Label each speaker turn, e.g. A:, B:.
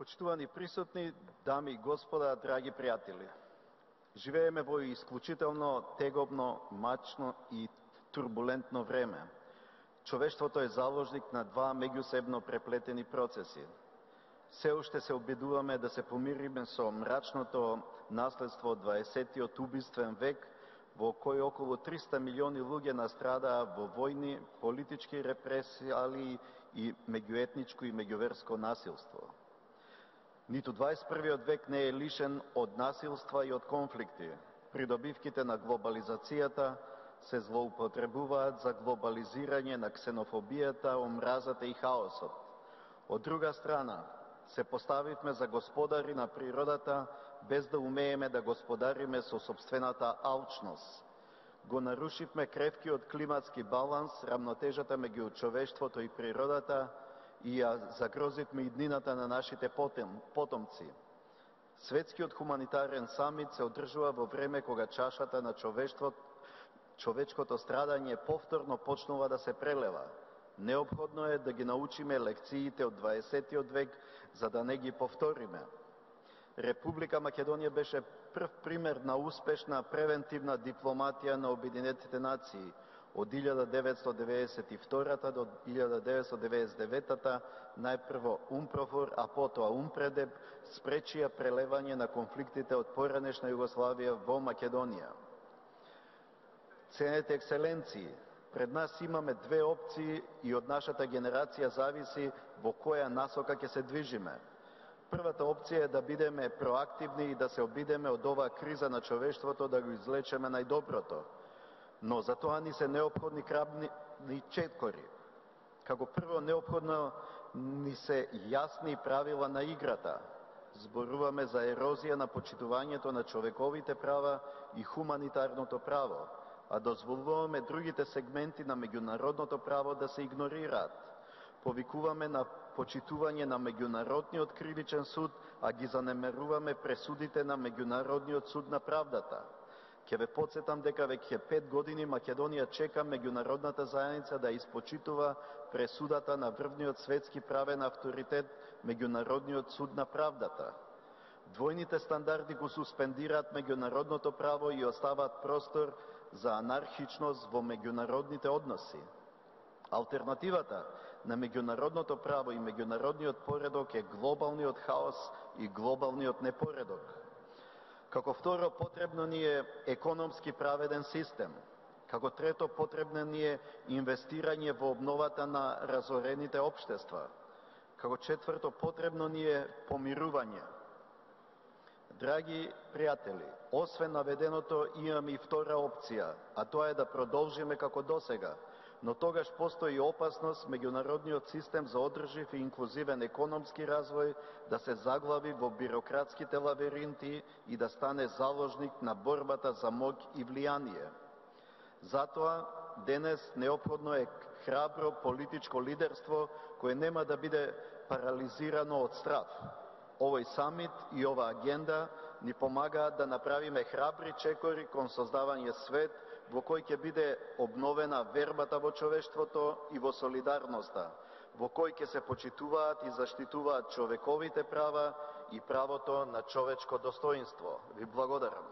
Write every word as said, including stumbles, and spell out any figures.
A: Почитувани присутни, дами и господа, драги пријатели, живееме во исклучително тегобно, мачно и турбулентно време. Човештвото е заложник на два меѓусебно преплетени процеси. Се уште се обидуваме да се помириме со мрачното наследство од дваесеттиот убиствен век, во кој околу триста милиони луѓе настрадаа во војни, политички репресии и меѓуетничко и меѓуверско насилство. Ниту дваесет и првиот век не е лишен од насилства и од конфликти. Придобивките на глобализацијата се злоупотребуваат за глобализирање на ксенофобијата, омразата и хаосот. Од друга страна, се поставивме за господари на природата, без да умееме да господариме со собствената алчност. Го нарушивме кревкиот климатски баланс, рамнотежата меѓу човештвото и природата, и ја загрозивме иднината на нашите потомци. Светскиот хуманитарен самит се одржува во време кога чашата на човештвото, човечкото страдање повторно почнува да се прелева. Неопходно е да ги научиме лекциите од дваесеттиот век, за да не ги повториме. Република Македонија беше прв пример на успешна превентивна дипломатија на Обединетите нации. Од илјада деветстотини деветдесет и втора до илјада деветстотини деветдесет и девета најпрво УНПРОФОР, а потоа УНПРЕДЕП спречија прелевање на конфликтите од поранешна Југославија во Македонија. Ценете екселенции, пред нас имаме две опции и од нашата генерација зависи во која насока ќе се движиме. Првата опција е да бидеме проактивни и да се обидеме од оваа криза на човештвото да го излечеме најдоброто. Но за тоа ни се неопходни крабни четкори. Како прво, неопходно ни се јасни правила на играта. Зборуваме за ерозија на почитувањето на човековите права и хуманитарното право, а дозволуваме другите сегменти на меѓународното право да се игнорираат. Повикуваме на почитување на меѓународниот кривичен суд, а ги занемеруваме пресудите на Меѓународниот суд на правдата. Ќе ве потсетам дека веќе пет години Македонија чека меѓународната заедница да испочитува пресудата на врвниот светски правен авторитет Меѓународниот суд на правдата. Двојните стандарди го суспендираат меѓународното право и оставаат простор за анархичност во меѓународните односи. Алтернативата на меѓународното право и меѓународниот поредок е глобалниот хаос и глобалниот непоредок. Како второ, потребно ни е економски праведен систем. Како трето, потребно ни е инвестирање во обновата на разорените општества. Како четврто, потребно ни е помирување. Драги пријатели, освен наведеното имаме и втора опција, а тоа е да продолжиме како досега, но тогаш постои опасност меѓународниот систем за одржив и инклузивен економски развој да се заглави во бирократските лавиринти и да стане заложник на борбата за моќ и влијание. Затоа, денес неопходно е храбро политичко лидерство кое нема да биде парализирано од страв. Овој самит и ова агенда ни помагаат да направиме храбри чекори кон создавање свет во кој ќе биде обновена вербата во човештвото и во солидарноста, во кој ќе се почитуваат и заштитуваат човековите права и правото на човечко достоинство. Ви благодарам.